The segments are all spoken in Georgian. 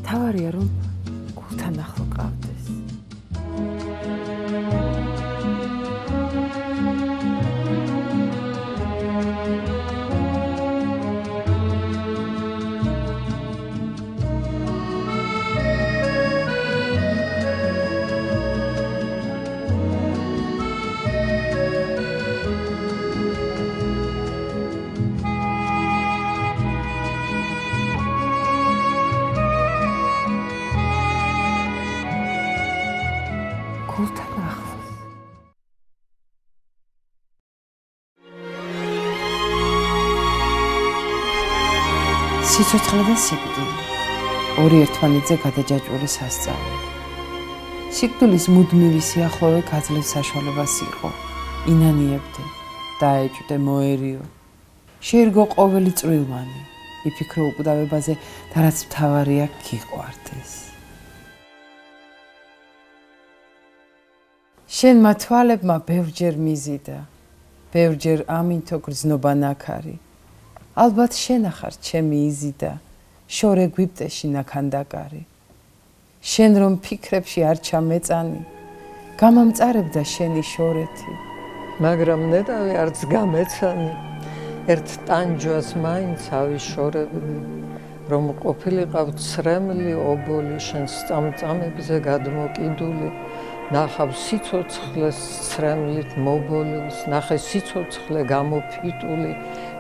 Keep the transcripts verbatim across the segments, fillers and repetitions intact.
თავარია რომ გულთან ახლო ყავდეს. გულთან ახლოს. სიცოცხლე და სიკვდილი. ორი ერთმანეთზე გადაჯაჭვური სასწაული. სიკვდილის მუდმივი სიახლოვე გაძლევს საშუალებას იყო. ინანიებდე, დაეჭვდე, მოერიო. შეერგო ყოველი წვრილმანი. იფიქრო უკვდავებაზე და რაც მთავარია გიყვარდეს. შენმა თვალებმა ბევრჯერ მიზიდა, ბევრჯერ ამინთო გრძნობა ნაქარი. ალბათ შენახარ ჩემი იზიდა, შორე გვიპტეში ნაქანდაკარი. შენ რომ ფიქრებში არ ჩამეწანი, გამამწარებდა შენი შორეთი. მაგრამ ნეტავი არც გამეცანი, ერთ ტანჯვას მაინც ავიშორებდი, რომ ყოფილიყავ ცრემლი ობოლი შენს წამწამებზე გადმოკიდული. ნახავ სიცოცხლეს ცრემლით მობოლილს, ნახე სიცოცხლე გამოფიტული,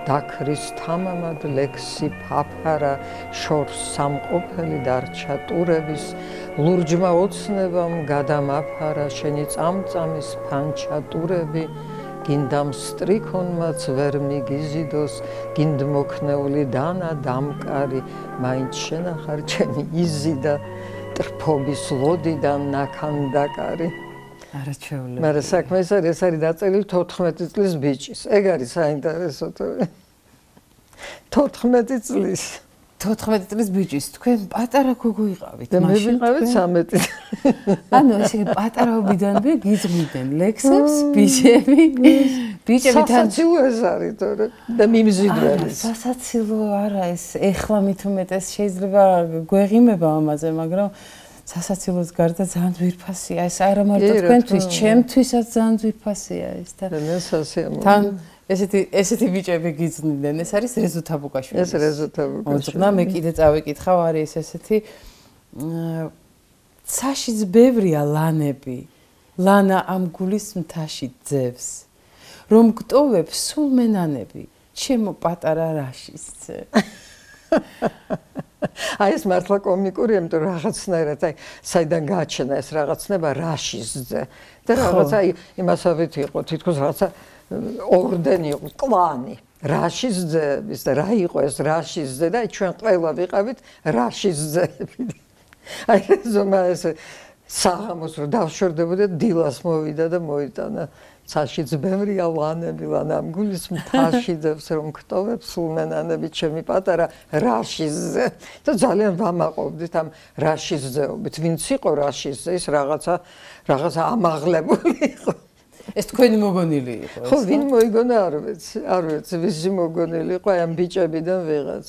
დაქრის თამამად ლექსი ფაფარა, შორს სამყოფელი დარჩა ტურების, ლურჯმა ოცნებამ გადამაფარა, შენი წამწამის ფანჩა ტურები, გინდამ სტრიქონმაც ვერ მიგიზიდოს, გინდმოქნეული დანა დამკარი, მაინც შენახარ ჩემი იზიდა, ტრფობის ლოდიდან ნაქანდაკარი. არაჩვეულებრივია. მაგრამ საქმე ეს არის, ეს არის დაწერილი თოთხმეტი წლის ბიჭის. ეგ არის საინტერესო. თოთხმეტი წლის. თოთხმეტი წლის ბიჭის, თქვენ პატარა გოგო იყავით. და მე ვიყავით სამეტი. ანუ ესე პატარაობიდანვე გიძღვიდან ლექსებს, ბიჭები, ბიჭები თან სასაცილო ეს არის თორე და მიმზიდველი. სასაცილო არა ეს, ეხლა მით უმეტეს შეიძლება გვეღიმება ამაზე, მაგრამ სასაცილოს გარდა ძალიან ძვირფასია ეს, არა მარტო თქვენთვის, ჩემთვისაც ძალიან ძვირფასია ეს და მე სასიამოვნო. თან ესეთი ესეთი ბიჭები გიძნიდან, ეს არის რეზო თაბუკაშვილი. ეს რეზო თაბუკაშვილი. ოდნა მე კიდე წავიკითხავ, არის ესეთი ცაშიც ბევრია ლანები. ლანა ამ გულის მთაში ძევს. რომ გტოვებ სულ მენანები, ჩემო პატარა რაშისძე. აი ეს მართლა კომიკურია, იმიტომ რომ რაღაცნაირად აი საიდან გააჩენა ეს რაღაცნება რაშისძე. და რაღაცა იმასავით იყო, თითქოს რაღაცა ორდენი იყო, კლანი. რაშისძეების და რა იყო ეს რაშისძე და ჩვენ ყველა ვიყავით რაშისძეები. აი ზომა ეს საღამოს რომ დავშორდებოდა, დილას მოვიდა და მოიტანა. ცაშიც ბევრია ლანები, ლანა ამ გულის მთაში ძევს, რომ გტოვებ სულ მენანები, ჩემი პატარა რაშისძე. და ძალიან ვამაყობდით ამ რაშისძეობით. ვინც იყო რაშისძე, ის რაღაცა რაღაცა ამაღლებული იყო. ეს თქვენი მოგონილი იყო ეს? ხო, ვინ მოიგონა არ ვიცი, არ ვიცი, ვისი მოგონილი იყო აი ამ ბიჭებიდან ვიღაც.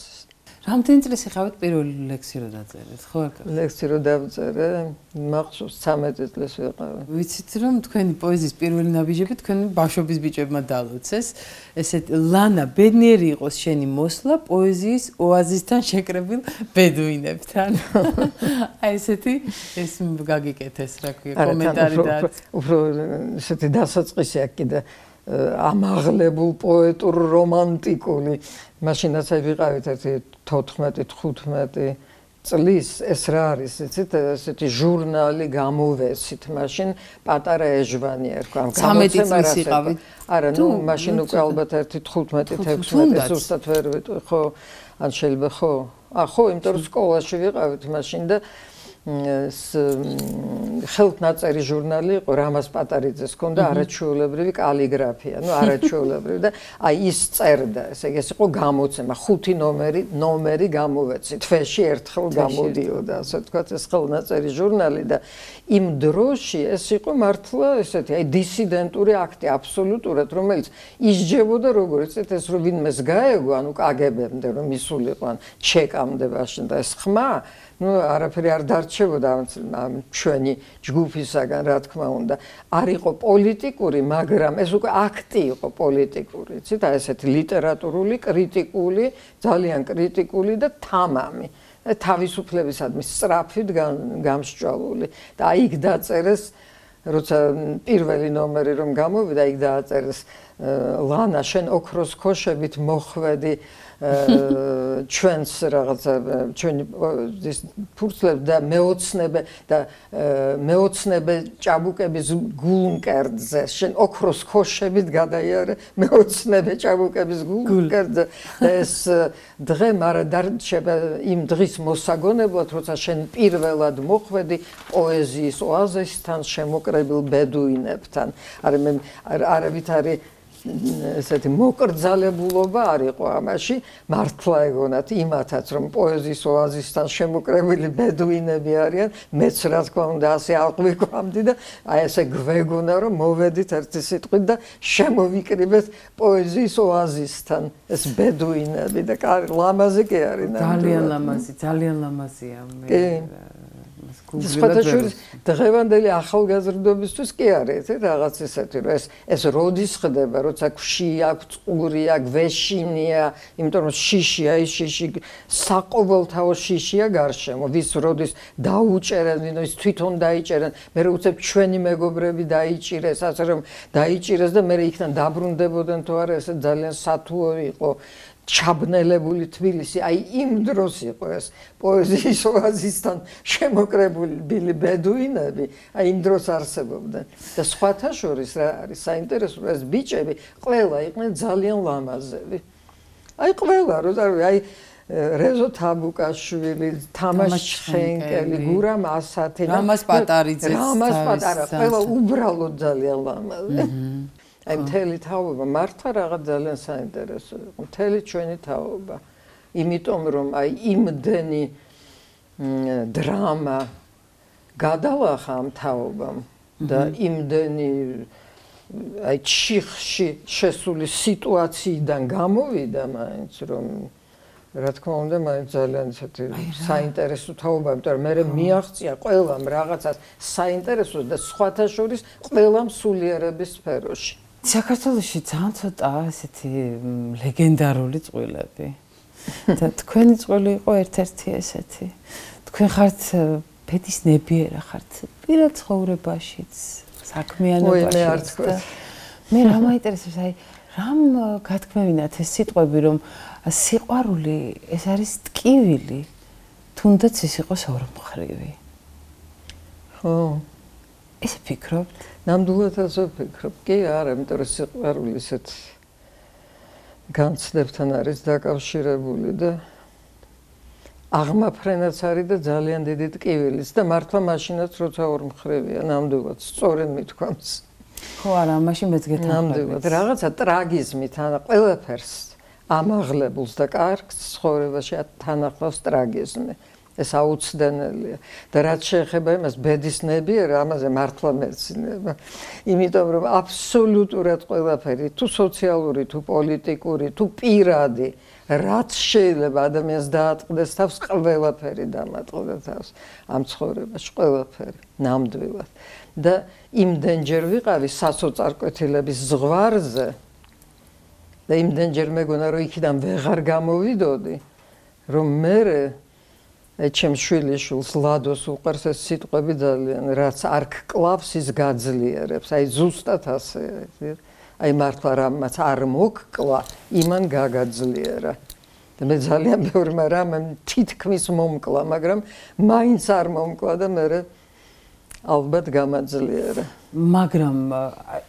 რამდენი წლის იყავით პირველი ლექსი რო დაწერეთ, ხო? ლექსი რო დავწერე, მახსოვს ცამეტი წლის ვიყავი. ვიცით რომ თქვენი პოეზიის პირველი ნაბიჯები თქვენი ბავშვობის ბიჭებმა დალოცეს. ესეთ ლანა ბედნიერი იყოს შენი მოსვლა პოეზიის ოაზისთან შეკრებილ ბედუინებთან. აი ესეთი ეს გაგიკეთეს რა ქვია კომენტარი და უფრო ესეთი დასაწყისი აქ კიდე ამაღლებულ პოეტურ რომანტიკული მაშინაც აი ვიყავით ერთი თოთხმეტი თხუთმეტი წლის ეს რა არის იცით ესეთი ჟურნალი გამოვესით მაშინ პატარა ეჟვანი ერქვა ამ ცამეტი წლის იყავით არა ნუ მაშინ უკვე ალბათ ერთი თხუთმეტი თექვსმეტი ზუსტად ვერ ვიტყვი ხო ან შეიძლება ხო ა ხო იმიტომ რომ სკოლაში ვიყავით მაშინ და ხელთნაწერი ჟურნალი იყო რამაზ პატარიძეს ჰქონდა არაჩვეულებრივი კალიგრაფია, ნუ არაჩვეულებრივი და აი ის წერდა, ესე იგი ეს იყო გამოცემა, ხუთი ნომერი, ნომერი გამოვეცი, თვეში ერთხელ გამოდიოდა, ასე ვთქვათ, ეს ხელნაწერი ჟურნალი და იმ დროში ეს იყო მართლა ესეთი, აი დისიდენტური აქტი აბსოლუტურად, რომელიც ისჯებოდა როგორც ეს რომ ვინმეს გაეგო, ანუ კაგებემდე რომ ისულიყო ან ჩეკამდე მაშინ და ეს ხმა ნუ არაფერი არ დარჩებოდა ამ ჩვენი ჯგუფისაგან, რა თქმა უნდა. არ იყო პოლიტიკური, მაგრამ ეს უკვე აქტი იყო პოლიტიკური, იცით, აი ესეთი ლიტერატურული, კრიტიკული, ძალიან კრიტიკული და თამამი. თავისუფლებისადმი სწრაფით გამსჭვალული. და აი იქ დაწერეს, როცა პირველი ნომერი რომ გამოვიდა, იქ დააწერეს ლანა, შენ ოქროს ქოშებით მოხვედი ჩვენს რაღაცა ჩვენი ფურცლებს და მეოცნებე და მეოცნებე ჭაბუკების გულმკერდზე შენ ოქროს ქოშებით გადაიარე მეოცნებე ჭაბუკების გულმკერდზე და ეს დღე მარა დარჩება იმ დღის მოსაგონებლად, როცა შენ პირველად მოხვედი პოეზიის ოაზისთან შემოკრებილ ბედუინებთან. არა მე არავით არის ესეთი მოკრძალებულობა არ იყო ამაში, მართლა ეგონათ იმათაც, რომ პოეზიის ოაზისთან შემოკრებილი ბედუინები არიან, მეც რა თქმა უნდა ასე აღვიქვამდი და აი ესე გვეგონა, რომ მოვედით ერთი სიტყვით და შემოვიკრიბეთ პოეზიის ოაზისთან ეს ბედუინები და ლამაზი კი არის. ძალიან ლამაზი, ძალიან ლამაზია მე. სხვათა შორის დღევანდელი ახალგაზრდობისთვის კი არის რაღაც ისეთი, რომ ეს ეს როდის ხდება, როცა ქვში აქვს, ყური აქვს, ვეშინია, იმიტომ რომ შიშია, ის შიში საყოველთაო შიშია გარშემო, ვის როდის დაუჭერენ, ის თვითონ დაიჭერენ, მე უცებ ჩვენი მეგობრები დაიჭირეს, ასე რომ დაიჭირეს და მე იქიდან დაბრუნდებოდნენ თუ არა, ესე ძალიან სათუო იყო. ჩაბნელებული თბილისი, აი იმ დროს იყო ეს პოეზიის ოაზისთან შემოკრებილი ბედუინები, აი იმ დროს არსებობდნენ. და სხვათა შორის რა არის საინტერესო, ეს ბიჭები ყველა იყვნენ ძალიან ლამაზები. აი ყველა, როზავი, აი რეზო თაბუკაშვილი, თამაშ ჩხენკელი, გურამ ასათი, რამაზ პატარიძე, რამაზ პატარა, ყველა უბრალოდ ძალიან ლამაზი. აი მთელი თაობა მართლა რაღაც ძალიან საინტერესო იყო, მთელი ჩვენი თაობა. იმიტომ რომ აი იმდენი დრამა გადალახა ამ თაობამ და იმდენი აი ჩიხში შესული სიტუაციიდან გამოვიდა მაინც რომ რა თქმა უნდა მაინც ძალიან ისეთი საინტერესო თაობა, იმიტომ რომ მე მიაღწია ყველამ რაღაცას საინტერესოს და სხვათა შორის ყველამ სულიერების სფეროში. საქართველოში ძალიან ცოტა ესეთი ლეგენდარული წყვილები. და თქვენი წყვილი იყო ერთ-ერთი ესეთი. თქვენ ხართ ბედისნებიერა, ხართ პირად ცხოვრებაშიც, საქმიანობაშიც. მე რა მაინტერესებს, აი რამ გათქმევინათ ეს სიტყვები, რომ სიყვარული ეს არის ტკივილი, თუნდაც ის იყოს ორმხრივი. ხო. ესე ფიქრობთ? ნამდვილად ასე ვფიქრობ. კი არა, იმიტომ რომ სიყვარული ისეთ განცდებთან არის დაკავშირებული და აღმაფრენაც არის და ძალიან დიდი ტკივილიც და მართლა მაშინაც როცა ორმხრივია, ნამდვილად სწორედ მithქვამს. ხო არა, მაშინ მეც გეთანხმებით. ნამდვილად რაღაცა ტრაგიზმით ან ყველაფერს ამაღლებულს და კარგს ცხოვრებაში თანახლავს ტრაგიზმი. ეს აუცდენელია და რაც შეეხება იმას ბედისნებიერა, ამაზე მართლა მეცინება. იმიტომ რომ აბსოლუტურად ყველაფერი, თუ სოციალური, თუ პოლიტიკური, თუ პირადი, რაც შეიძლება ადამიანს დაატყდეს თავს, ყველაფერი დამატყდა თავს ამ ცხოვრებაში, ყველაფერი, ნამდვილად. და იმდენჯერ ვიყავი სასოწარკვეთილების ზღვარზე და იმდენჯერ მეგონა, რომ იქიდან ვეღარ გამოვიდოდი, რომ მე აი ჩემს შვილიშვილს ლადოს უყარს ეს სიტყვები ძალიან, რაც არ გკლავს ის გაძლიერებს, აი ზუსტად ასე, აი მართლა რამაც არ მოგკლა, იმან გაგაძლიერა. და მე ძალიან ბევრმა რამემ თითქმის მომკლა, მაგრამ მაინც არ მომკლა და მე ალბათ გამაძლიერა. მაგრამ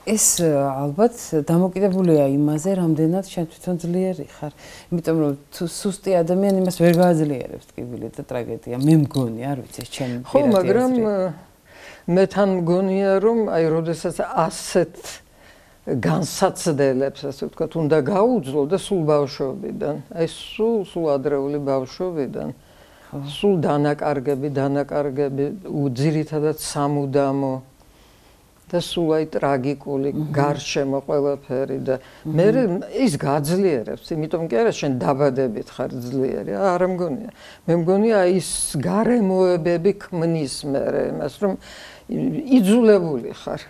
ეს ალბათ დამოკიდებულია იმაზე, რამდენად შენ თვითონ ძლიერი ხარ. იმიტომ რომ თუ სუსტი ადამიანი იმას ვერ გააძლიერებს ტკივილი და ტრაგედია. მე მგონი, არ ვიცი, ეს ჩემი ხო, მაგრამ მე თან მგონია, რომ აი როდესაც ასეთ განსაცდელებს, ასე ვთქვათ, უნდა გაუძლო და სულ ბავშვობიდან, აი სულ სულ ადრეული ბავშვობიდან, სულ დანაკარგები, დანაკარგები, ძირითადად სამუდამო და სულ აი ტრაგიკული გარშემო ყველაფერი და მე ის გაძლიერებს, იმიტომ კი არა შენ დაბადებით ხარ ძლიერი, არა მგონია. მე მგონია ის გარემოებები ქმნის მე იმას, რომ იძულებული ხარ.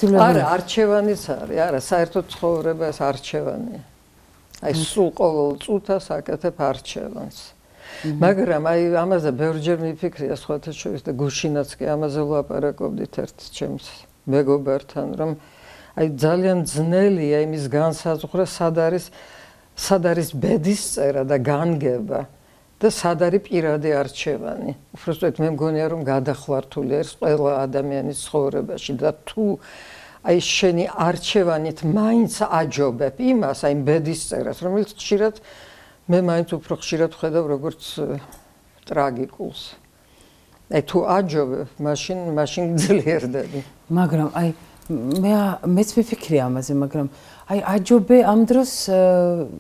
არა, არჩევანიც არის, არა, საერთოდ ცხოვრება ეს არჩევანია. აი სულ ყოველ წუთას აკეთებ არჩევანს. მაგრამ აი ამაზე ბევრჯერ მიფიქრია სხვათა შორის და გუშინაც კი ამაზე ვლაპარაკობდით ერთ ჩემს მეგობართან, რომ აი ძალიან ძნელია იმის განსაზღვრა, სად არის სად არის ბედისწერა და განგება და სად არის პირადი არჩევანი. უბრალოდ მე მგონია რომ გადახვართული არის ყველა ადამიანის ცხოვრებაში და თუ აი შენი არჩევანით მაინც აჯობებ იმას, აი ბედისწერას, რომელიც ხშირად მე მაინც უფრო ხშირად ვხედავ როგორც ტრაგიკულს. აი თუ აჯობებ, მაშინ მაშინ ძლიერდები. მაგრამ აი მე მეც მიფიქრია ამაზე, მაგრამ აი აჯობე ამ დროს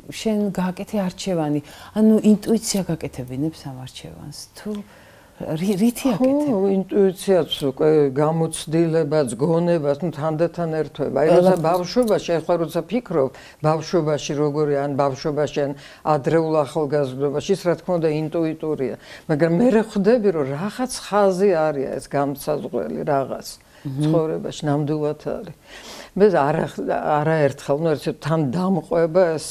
შენ გააკეთე არჩევანი, ანუ ინტუიცია გაკეთებინებს ამ არჩევანს. თუ რითი აკეთებ? ო, ინტუიციაც უკვე გამოცდილებაც, გონებაც, ნუ თანდათან ერთვება. აი როცა ბავშვობაში, ახლა როცა ფიქრობ, ბავშვობაში როგორი ან ბავშვობაში ან ადრეულ ახალგაზრდობაში, ის რა თქმა უნდა ინტუიტურია. მაგრამ მე ხვდები, რომ რაღაც ხაზი არის ეს გამსაზღვრელი რაღაც ცხოვრებაში, ნამდვილად არის. მე არა არაერთხელ, ნუ ერთ თან დამყვება ეს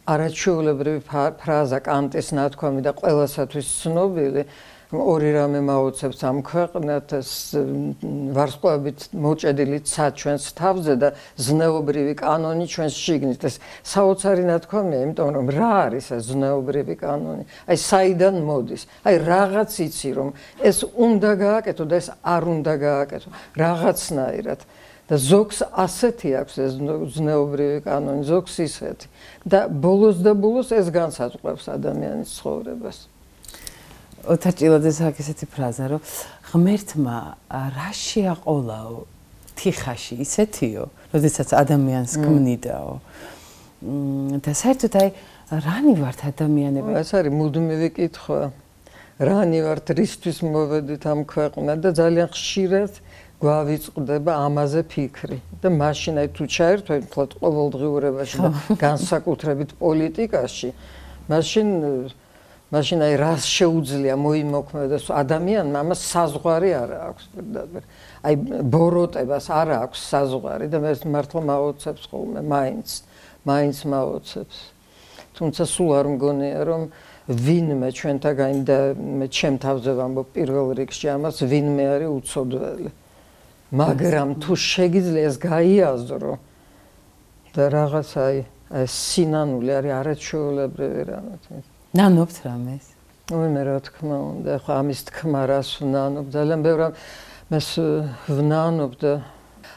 არაჩვეულებრივი ფრაზა კანტის ნათქვამი და ყველასათვის ცნობილი. ორი რამე მაუცებს ამ ქვეყნად ეს ვარსკვლავებით მოჭედილი ცა ჩვენს თავზე და ზნეობრივი კანონი ჩვენს შიგნით. ეს საოცარი ნათქვამია, იმიტომ რომ რა არის ეს ზნეობრივი კანონი? აი საიდან მოდის? აი რაღაც იცი რომ ეს უნდა გააკეთო და ეს არ უნდა გააკეთო რაღაცნაირად. და ზოგს ასეთი აქვს ეს ზნეობრივი კანონი, ზოგს ისეთი. და ბოლოს და ბოლოს ეს განსაზღვრავს ადამიანის ცხოვრებას. ოთარ ჭილაძეს აქვს ესეთი ფრაზა, რომ ღმერთმა რა შეაყოლაო თიხაში ისეთიო, როდესაც ადამიანს ქმნიდაო. და საერთოდ აი რანი ვართ ადამიანები? ეს არის მუდმივი კითხვა. რანი ვართ, რისთვის მოვედით ამ ქვეყნად და ძალიან ხშირად გვავიწყდება ამაზე ფიქრი. და მაშინ აი თუ ჩაერთვეთ მხოლოდ ყოველდღიურობაში და განსაკუთრებით პოლიტიკაში, მაშინ მაშინ აი რას შეუძლია მოიმოქმედოს ადამიანმა, ამას საზღვარი არ აქვს პირდაპირ. აი ბოროტებას არ აქვს საზღვარი და მე მართლა მაოცებს ხოლმე მაინც, მაინც მაოცებს. თუმცა სულ არ მგონია რომ ვინმე ჩვენთაგანი და მე ჩემ თავზე ვამბობ პირველ რიგში ამას ვინმე არის უცოდველი. მაგრამ თუ შეგიძლია ეს გაიაზრო და რაღაც აი ეს სინანული არის არაჩვეულებრივი რამე. ნანობთ რამეს? ой, მე რა თქმა უნდა, ხო ამის თქმა რას ვნანობ, ძალიან ბევრ მეს ვნანობ და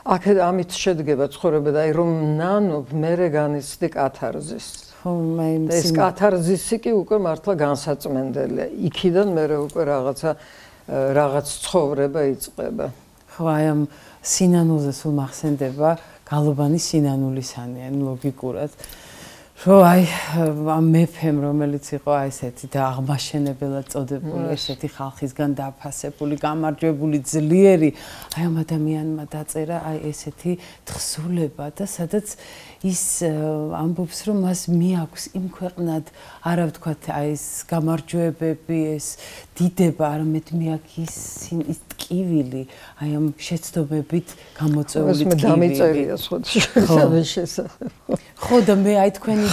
აქ ამით შედგება ცხოვრება და აი რომ ვნანობ, მერე განიცდი კათარზის. ხო, მე ეს კათარზისი კი უკვე მართლა განსაწმენდელია. იქიდან მერე უკვე რაღაცა რაღაც ცხოვრება იწყება. ხო, აი ამ სინანულზე სულ მახსენდება გალობანი სინანულისანი, ან ლოგიკურად. რომ აი ამ მეფემ რომელიც იყო აი ესეთი და აღმაშენებელად წოდებული, ესეთი ხალხისგან დაფასებული, გამარჯვებული, ძლიერი, აი ამ ადამიანმა დაწერა აი ესეთი თხზულება და სადაც ის ამბობს რომ მას მიაქვს იმ ქვეყნად არა ვთქვათ აი ეს გამარჯვებები, ეს დიდება, არამედ მიაქვს ის ის ტკივილი, აი ამ შეცდომებით გამოწვეული ტკივილი. ეს მე დამიწერია სხვა შესახებ. ხო და მე აი თქვენი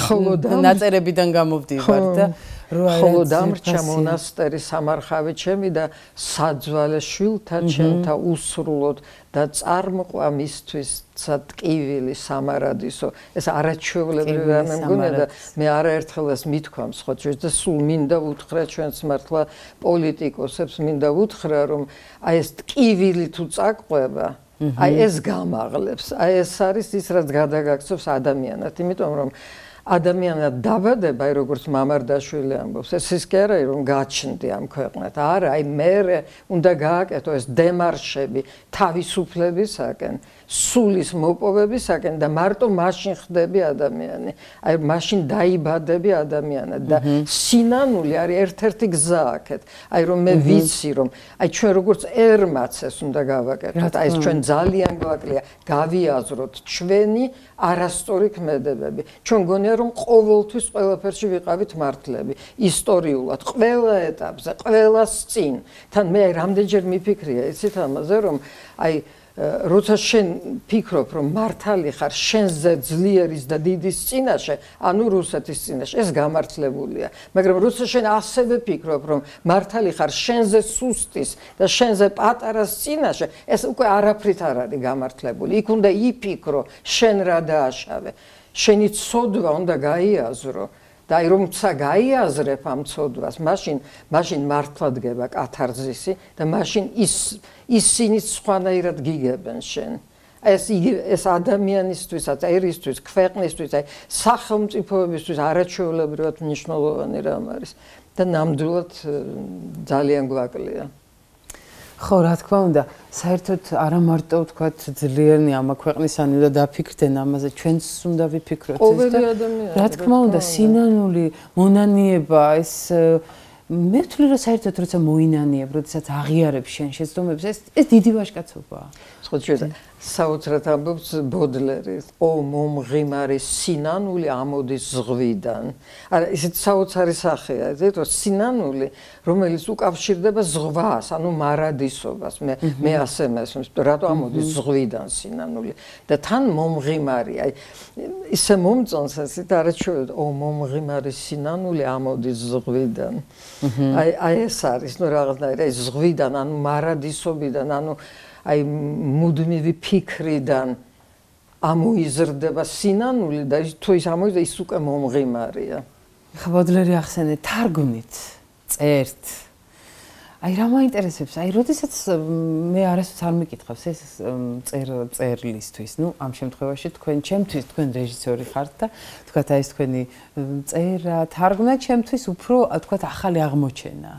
ნაწერებიდან გამოვდივარ და ხოლო დამრჩა მონასტერი სამარხავი ჩემი და საძვალე შვილთა ჩემთა უსრულოდ და წარმყვა მისთვის ტკივილი სამარადისო. ეს არაჩვეულებრივი რამე მგონია და მე არაერთხელ ეს მithქვამს ხო ჩვენ და სულ მინდა უთხრა ჩვენს მართლა პოლიტიკოსებს, მინდა უთხრა რომ აი ეს ტკივილი თუ წაყვება აი ეს გამაღლებს, აი ეს არის ის რაც გადაგაქცევს ადამიანად, იმიტომ რომ ადამიანად დაბადება, აი როგორც მამარდაშვილი ამბობს, ეს ის კი არა, რომ გაჩნდი ამ ქვეყნად. არა, აი მე უნდა გააკეთო ეს დემარშები თავისუფლებისაკენ, სულის მოპოვებისაკენ და მარტო მაშინ ხდები ადამიანი. აი მაშინ დაიბადები ადამიანად და სინანული არის ერთ-ერთი გზა აქეთ. აი რომ მე ვიცი რომ აი ჩვენ როგორც ερμაცეს უნდა გავაკეთოთ. აი ეს ჩვენ ძალიან გვაკლია გავიაზროთ ჩვენი არასწორი ქმედებები. ჩვენ გონია რომ ყოველთვის ყველაფერში ვიყავით მართლები, ისტორიულად, ყველა ეტაპზე, ყველას წინ. თან მე რამდენჯერ მიფიქრია, იცით ამაზე, რომ აი როცა შენ ფიქრობ, რომ მართალი ხარ შენზე ძლიერის და დიდის წინაშე, ანუ რუსეთის წინაშე, ეს გამართლებულია. მაგრამ როცა შენ ასევე ფიქრობ, რომ მართალი ხარ შენზე სუსტის და შენზე პატარას წინაშე, ეს უკვე არაფრით არ არის გამართლებული. იქ უნდა იფიქრო, შენ რა დააშავე. შენი ცოდვა უნდა გაიაზრო. და აი რომცა გაიაზრებ ამ ცოდვას, მაშინ მაშინ მართლა დგება კათარზისი და მაშინ ის ისინი სხვანაირად გიგებენ შენ. ეს ეს ადამიანისთვისაც, ერისთვის, ქვეყნისთვის, აი სახელმწიფოებისთვის არაჩვეულებრივად მნიშვნელოვანი რამ არის და ნამდვილად ძალიან გვაკლია. ხო, რა თქმა უნდა, საერთოდ არა მარტო ვთქვათ ძლიერნი ამ ქვეყნისანი და დაფიქრდნენ ამაზე, ჩვენც უნდა ვიფიქროთ ეს და რა თქმა უნდა, სინანული, მონანიება, ეს მე ვთვლი რომ საერთოდ როცა მოინანიებ, როდესაც აღიარებ შენ შეცდომებს, ეს ეს დიდი ვაჟკაცობაა. ხო, ჩვენ საოცრად ამბობს ბოდლერი, ო მომღიმარი სინანული ამოდის ზღვიდან. არა, ისეთ საოცარი სახეა, იცით, რომ სინანული, რომელიც უკავშირდება ზღვას, ანუ მარადისობას. მე მე ასე მესმის, რატო ამოდის ზღვიდან სინანული და თან მომღიმარი, აი ისე მომწონს ასეთ არაჩვეულოდ, ო მომღიმარი სინანული ამოდის ზღვიდან. აი აი ეს არის, ნუ რაღაცნაირად აი ზღვიდან, ანუ მარადისობიდან, ანუ აი მუდმივი ფიქრიდან ამოიზრდება სინანული და თუ ის ამოიზრდება ის უკვე მომღიმარია. ხა ბოდლერი ახსენეთ თარგმნით, წერთ. აი რა მაინტერესებს, აი როდესაც მე არასდროს არ მიკითხავს ეს წერ წერლისთვის, ნუ ამ შემთხვევაში თქვენ ჩემთვის თქვენ რეჟისორი ხართ და თქვათ აი ეს თქვენი წერა, თარგმნა ჩემთვის უფრო თქვათ ახალი აღმოჩენა.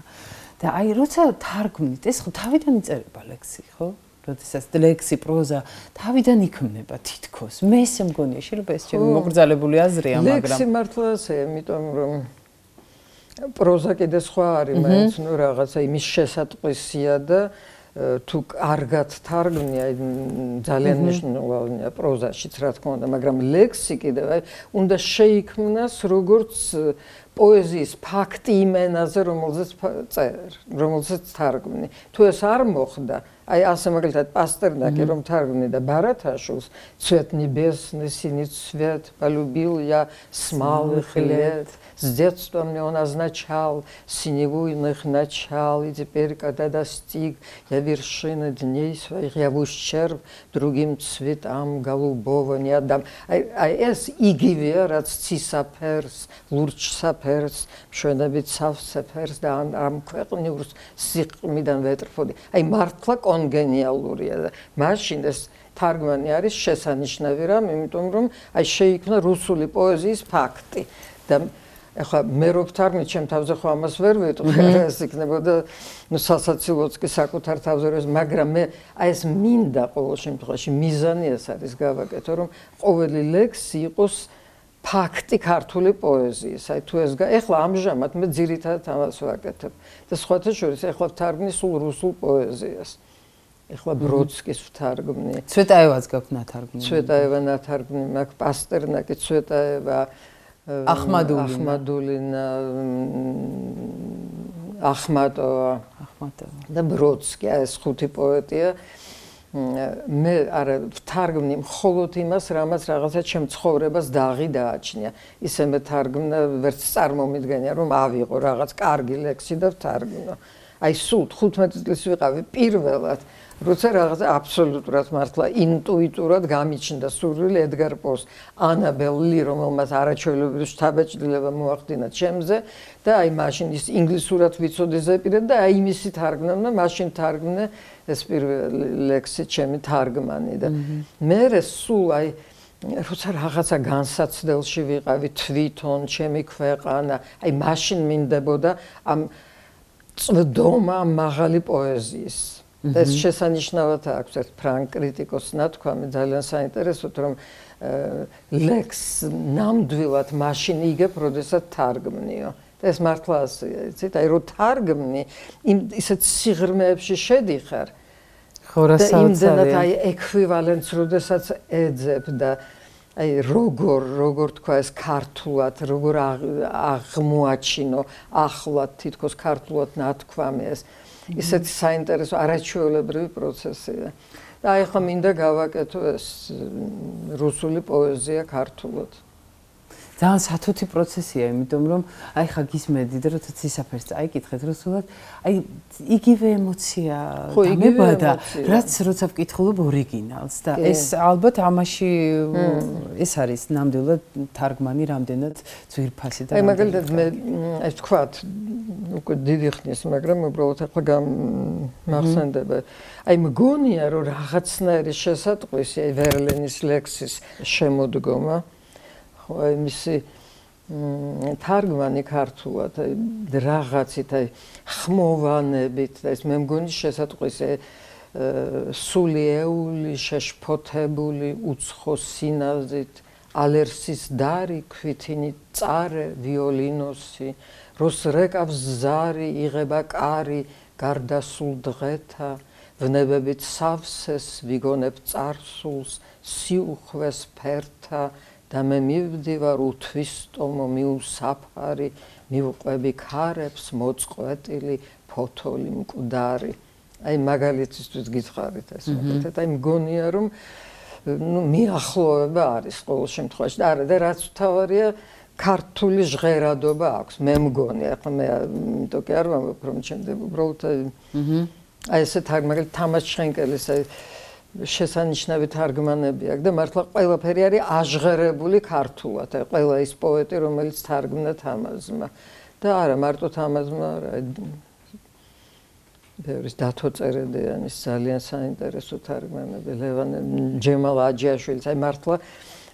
და აი როცა თარგმნით, ეს ხო თავიდან იწერება ლექსი, ხო? როდესაც ლექსი, პროზა თავიდან იქმნება თითქოს. მე ესე მგონია, შეიძლება ეს ჩემი მოგრძალებული აზრია, მაგრამ ლექსი მართლა ასეა, იმიტომ რომ პროზა კიდე სხვა არის, მაინც ნუ რაღაცა იმის შესატყვისია და თუ კარგად თარგმნია, ძალიან მნიშვნელოვანია პროზაშიც, რა თქმა უნდა, მაგრამ ლექსი კიდევ აი უნდა შეიქმნას როგორც პოეზიის ფაქტი იმ ენაზე, რომელზეც წერ, რომელზეც თარგმნი. თუ ეს არ მოხდა, აი ასე მაგალითად პასტერნაკი რომ თარგმნიდა ბარათაშვილს, цвет небесный цвет полюбил я с малых лет, с детства мне он означал синевуйных начал, и теперь, когда достиг я вершины дней своих, я в ущерб другим цветам голубого не отдам. Აი ეს იგივეა, რაც ცისაფერს, ლურჯსაფერს, მშვენებით სავსეფერს და ამ ქვეყნიურს სიყრმიდან ვეტრფოდი. აი მართლა კონგენიალურია და მაშინ ეს თარგმანი არის შესანიშნავი რამ, იმიტომ რომ აი შეიქმნა რუსული პოეზიის ფაქტი და ეხლა მე რო ვთარგმნით, ჩემ თავზე ხო ამას ვერ ვეტყვი, ეს იქნებოდა ნუ სასაცილოც კი საკუთარ თავზე რომ, მაგრამ მე აი ეს მინდა ყოველ შემთხვევაში მიზანი ეს არის გავაკეთო, რომ ყოველი ლექსი იყოს ფაქტი ქართული პოეზიის. აი თუ ეს ეხლა ამჟამად მე ძირითადად ამას ვაკეთებ და სხვათა შორის ეხლა ვთარგმნი სულ რუსულ პოეზიას. ეხლა ბროდსკის ვთარგმნი. ცვეტაევაც გაქვთ ნათარგმნი. ცვეტაევა ნათარგმნი მაქვს, პასტერნაკი, ცვეტაევა, ახმადულინა, ახმადულინა, ახმატოვა, ახმატოვა და ბროდსკი, ეს ხუთი პოეტია. მე არა ვთარგმნი მხოლოდ იმას, რამაც რაღაცა ჩემ ცხოვრებას დაღი დააჩნია. ისე მე თარგმნა, ვერც წარმომიდგენია, რომ ავიღო რაღაც კარგი ლექსი და ვთარგმნო. აი სულ თხუთმეტი წლის ვიყავი პირველად, როცა რაღაცა აბსოლუტურად მართლა ინტუიტურად გამიჩნდა სურვილი ედგარ პოს, ანაბელ ლი, რომელმაც არაჩვეულებრივი შთაბეჭდილება მოახდინა ჩემზე და აი მაშინ ის ინგლისურად ვიცოდი ზეპირად და აი იმისი თარგმნა, მაშინ თარგმნე ეს პირველი ლექსი ჩემი თარგმანი და მერე სულ აი როცა რაღაცა განსაცდელში ვიყავი თვითონ ჩემი ქვეყანა, აი მაშინ მინდებოდა ამ წვდომა მაღალი პოეზიის. და ეს შესანიშნავად აქვს ერთ ფრანგ კრიტიკოსს ნათქვამი ძალიან საინტერესოდ, რომ ლექს ნამდვილად მაშინ იგებ, როდესაც თარგმნიო. ეს მართლა ასეა, იცით? აი რო თარგმნი, იმ ისეთ სიღრმეებში შედიხარ. ხო, რა საოცარია. და აი ექვივალენტს როდესაც ეძებ და აი როგორ როგორ თქვა ეს ქართულად, როგორ აღმოაჩინო ახლად თითქოს ქართულად ნათქვამი ეს ისეთი საინტერესო არაჩვეულებრივი პროცესია. და აი ხომ მინდა გავაკეთო ეს რუსული პოეზია ქართულად. ძალიან სათუთი პროცესია, იმიტომ რომ აი ხა გისმედი და როცა ცისაფერს წაიკითხეთ რუსულად, აი იგივე ემოცია დამებადა, რაც როცა ვკითხულობ ორიგინალს და ეს ალბათ ამაში ეს არის ნამდვილად თარგმანი რამდენად ძვირფასი და აი მაგალითად მე ეს თქვათ უკვე დიდი ხნის, მაგრამ უბრალოდ ახლა გამახსენდება. აი მგონია რომ რაღაცნაირი შესატყვისი აი ვერლენის ლექსის შემოდგომა აი მისი თარგმანი ქართულად აი რაღაცით აი ხმოვანებით და ეს მე მგონი შესატყვისი სულიეული შეშფოთებული უცხო სინაზით ალერსის დარი ქვითინი წარე ვიოლინოსი როს რეკავს ზარი იღება კარი გარდასულ დღეთა ვნებებით სავსეს ვიგონებ წარსულს სიუხვეს ფერთა და მე მივდივარ უთვისტომო მიუსაფარი მივყვები ქარებს მოწყვეტილი ფოთოლი მკვდარი აი მაგალითისთვის გითხარით ეს მაგალითად აი მგონია რომ ნუ მიახლოება არის ყოველ შემთხვევაში და არა და რაც თავარია ქართული ჟღერადობა აქვს მე მგონი ახლა მე იმიტომ კი არ ვამბობ რომ ჩემდე უბრალოდ აი ესე მაგალითად თამაზ შენკელის აი შესანიშნავი თარგმანები აქვს და მართლა ყველაფერი არის აჟღერებული ქართულად. აი ყველა ის პოეტი, რომელიც თარგმნა თამაზმა. და არა, მარტო თამაზმა არა. ბევრის დათო წერედიანის ძალიან საინტერესო თარგმანები, ლევან ჯემალ აჯიაშვილის, აი მართლა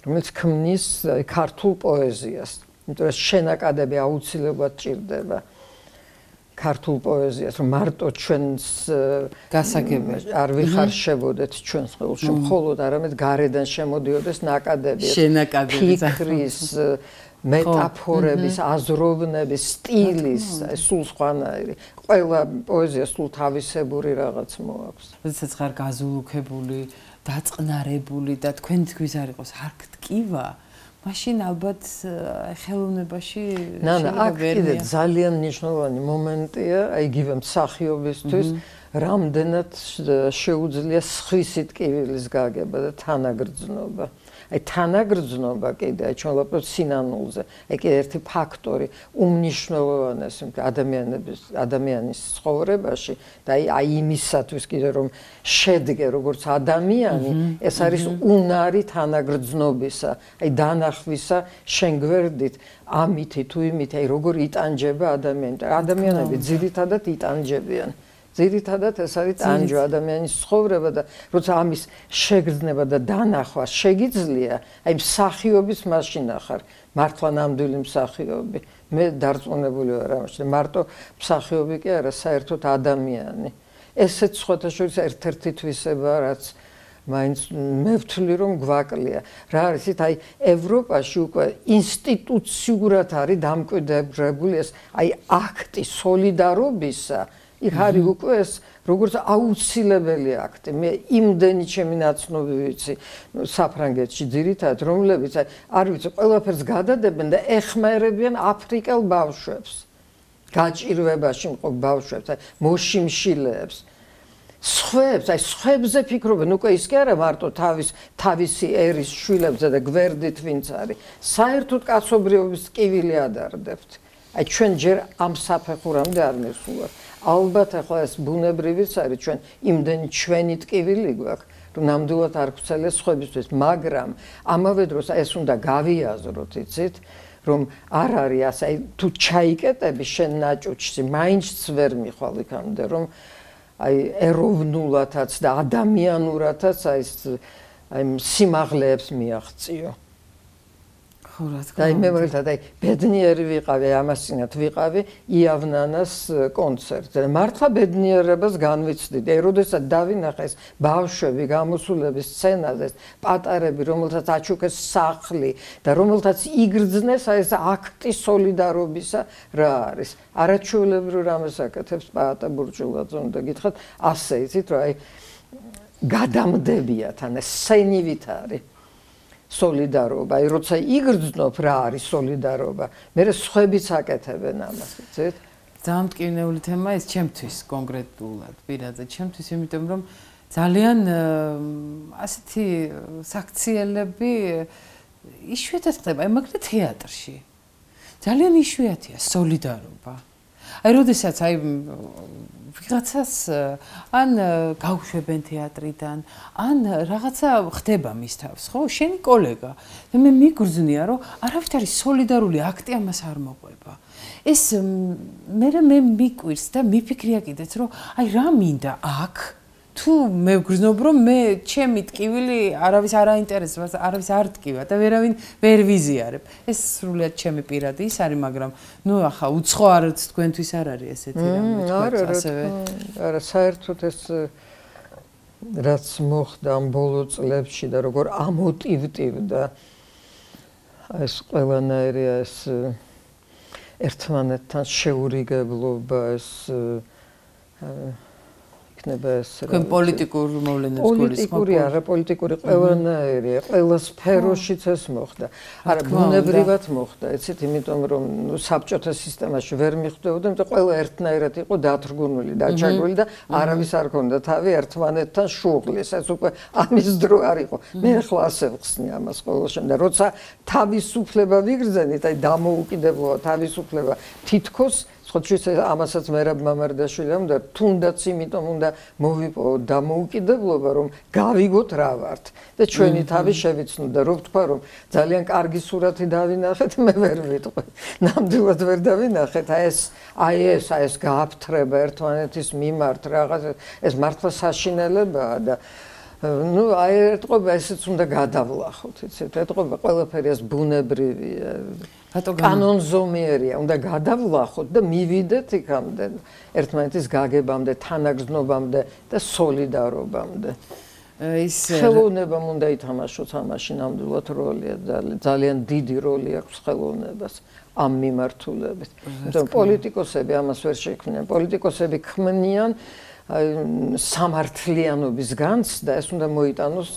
რომელიც ქმნის ქართულ პოეზიას. იმიტომ რომ შენაკადები აუცილებლად ჭირდება. ქართულ პოეზიას, რომ მარტო ჩვენს გასაგებად არ ვიხარშებოდეთ ჩვენს ხელში, მხოლოდ არამედ გარედან შემოდიოდეს ნაკადები, ფიქრის, მეტაფორების, აზროვნების, სტილის, სულ სხვანაირი. ყველა პოეზია სულ თავისებური რაღაც მოაქვს. როდესაც ხარ გაზულუქებული, დაწყნარებული და თქვენთვის არ იყოს არქ ტკივა, მაშინ ალბათ ხელოვნებაში ნანა აქ კიდე ძალიან მნიშვნელოვანი მომენტია აი იგივე მსახიობისთვის რამდენად შეუძლია სხვისი ტკივილის გაგება და თანაგრძნობა აი თანაგრძნობა კიდე აი ჩვენ ვაპრობთ სინანულზე აი კიდე ერთი ფაქტორი უმნიშვნელოვანესი ადამიანების ადამიანის ცხოვრებაში და აი აი იმისათვის კიდე რომ შედგე როგორც ადამიანი ეს არის უნარი თანაგრძნობისა აი დანახვისა შენ გვერდით ამითი თუ იმითი აი როგორ იტანჯება ადამიანი ადამიანები ძირითადად იტანჯებიან ძირითადად ეს არის ტანჯვა ადამიანის ცხოვრება და როცა ამის შეგრძნება და დანახვა შეგიძლია, აი მსახიობის მაშინა ხარ, მართლა ნამდვილი მსახიობი. მე დარწმუნებული ვარ ამაში, მარტო მსახიობი კი არა, საერთოდ ადამიანი. ესეც სხვათა შორის ერთ-ერთი თვისება, რაც მაინც მე ვთვლი რომ გვაკლია. რა არის ით აი ევროპაში უკვე ინსტიტუციურად არის დამკვიდრებული ეს აი აქტი სოლიდარობისა იქ არის უკვე ეს როგორც აუცილებელი აქტი. მე იმდენი ჩემი ნაცნობი ვიცი საფრანგეთში ძირითადად, რომლებიც არ ვიცი, ყველაფერს გადადებენ და ეხმარებიან აფრიკელ ბავშვებს. გაჭირვებაში მყოფ ბავშვებს, მოშიმშილეებს. სხვებს, აი სხვებზე ფიქრობენ, უკვე ის კი არა მარტო თავის თავისი ერის შვილებზე და გვერდით ვინც არის. საერთოდ კაცობრიობის ტკივილი ადარდებთ. აი ჩვენ ჯერ ამ საფეხურამდე არ მესულვართ. ალბათ ახლა ეს ბუნებრივიც არის ჩვენ იმდენი ჩვენი ტკივილი გვაქვს რომ ნამდვილად არ გვცელეს სხვებისთვის მაგრამ ამავე დროს ეს უნდა გავიაზროთ იცით რომ არ არის ასე აი თუ ჩაიკეტები შენ ნაჭუჭში მაინც ვერ მიხვალ იქამდე რომ აი ეროვნულათაც და ადამიანურათაც აი ეს აი სიმაღლეებს მიაღწიო. ხო რა თქმა და მე ვერტად აი ბედნიერი ვიყავი, ამასინათ ვიყავი იავნანას კონცერტზე. მართლა ბედნიერებას განვიცდიდი. აი როდესაც დავინახე ეს ბავშვები გამოსულების სცენაზე, პატარები, რომელთაც აჩუქეს სახლი და რომელთაც იგრძნეს აი ეს აქტი სოლიდარობისა რა არის. არაჩვეულებრივ რამეს აკეთებს პაატა ბურჭულაძე, უნდა გითხრათ, ასე იცით რა აი გადამდებიათ, ან სცენივით არის. სოლიდარობა, აი როცა იგრძნობ რა არის სოლიდარობა, მე სხვებიც აკეთებენ ამას, იცით? ძალიან მტკივნეული თემა ეს ჩემთვის კონკრეტულად, პირადად ჩემთვის, იმიტომ რომ ძალიან ასეთი საქციელები იშვიათად ხდება, აი მაგალითად თეატრში. ძალიან იშვიათია სოლიდარობა. აი როდესაც აი ვიღაცას ან გავშვებენ თეატრიდან, ან რაღაცა ხდება მის თავს, ხო? შენი კოლეგა. და მე მიგრძნია, რომ არავით არის სოლიდარული აქტი ამას არ მოყვება. ეს მე მე მიკვირს და მიფიქრია კიდეც, რომ აი რა მინდა აქ? თუ მე ვგრძნობ, რომ მე ჩემი ტკივილი არავის არ აინტერესებს, არავის არ ტკივა და ვერავინ ვერ ვიზიარებ. ეს სრულიად ჩემი პირადი ის არის, მაგრამ ნუ ახლა უცხო არც თქვენთვის არ არის ესეთი რამე თქვა ასევე. არა, საერთოდ ეს რაც მოხდა ამ ბოლო წლებში და როგორ ამოტივტივდა ეს ყველანაირი ეს ერთმანეთთან შეურიგებლობა, ეს თქვენ პოლიტიკურ მოვლენებს გულისხმობთ? პოლიტიკური არა, პოლიტიკური ყველანაირია, ყველა სფეროშიც ეს მოხდა. არა, ბუნებრივად მოხდა, იცით, იმიტომ რომ საბჭოთა სისტემაში ვერ მიხვდებოდა, იმიტომ ყველა ერთნაირად იყო დათრგუნული, დაჩაგრული და არავის არ ქონდა თავი ერთმანეთთან შუღლის. ეს უკვე ამის დრო არ იყო. მე ახლა ასე ვხსნი ამას ყოველ შემთხვევაში. როცა თავისუფლება ვიგრძენით, აი დამოუკიდებლობა, თავისუფლება თითქოს ხოჩის ამასაც მერაბ მამარდაშვილმა უნდა თუნდაც იმიტომ უნდა მოვიპოვო დამოუკიდებლობა, რომ გავიგოთ რა ვართ და ჩვენი თავი შევიცნოთ და რო ვთქვა, რომ ძალიან კარგი სურათი დავინახეთ, მე ვერ ვიტყვი. ნამდვილად ვერ დავინახეთ, აი ეს აი ეს აი ეს გააფთრება ერთმანეთის მიმართ რაღაც ეს მართლა საშინელებაა და ну, აი ეთყობა ესეც უნდა გადავლახოთ, იცით, ეთყობა ყველაფერი ეს ბუნებრივია. კანონზომიერია, უნდა გადავლახოთ და მივიდეთ იქამდე ერთმანეთის გაგებამდე, თანაგრძნობამდე და სოლიდარობამდე. ის ხელოვნებამ უნდა ითამაშოს ამაში ნამდვილად როლია, ძალიან დიდი როლი აქვს ხელოვნებას ამ მიმართულებით. იმიტომ პოლიტიკოსები ამას ვერ შექმნიან, პოლიტიკოსები ქმნიან სამართლიანობის განცდა, ეს უნდა მოიტანოს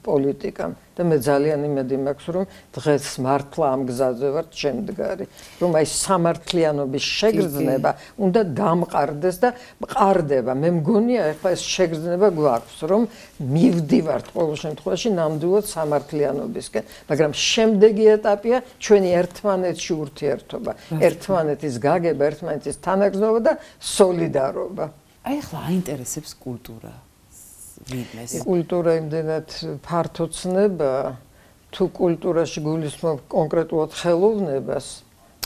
პოლიტიკამ და მე ძალიან იმედი მაქვს, რომ დღეს მართლა ამ გზაზე ვართ შემდგარი, რომ აი სამართლიანობის შეგრძნება უნდა დამყარდეს და მყარდება. მე მგონია ახლა ეს შეგრძნება გვაქვს, რომ მივდივართ ყოველ შემთხვევაში ნამდვილად სამართლიანობისკენ, მაგრამ შემდეგი ეტაპია ჩვენი ერთმანეთში ურთიერთობა, ერთმანეთის გაგება, ერთმანეთის თანაგრძნობა და სოლიდარობა. აი ახლა აინტერესებს კულტურა. ვიდმეს. კულტურა იმდენად ფართო ცნება, თუ კულტურაში გულისხმობ კონკრეტულად ხელოვნებას,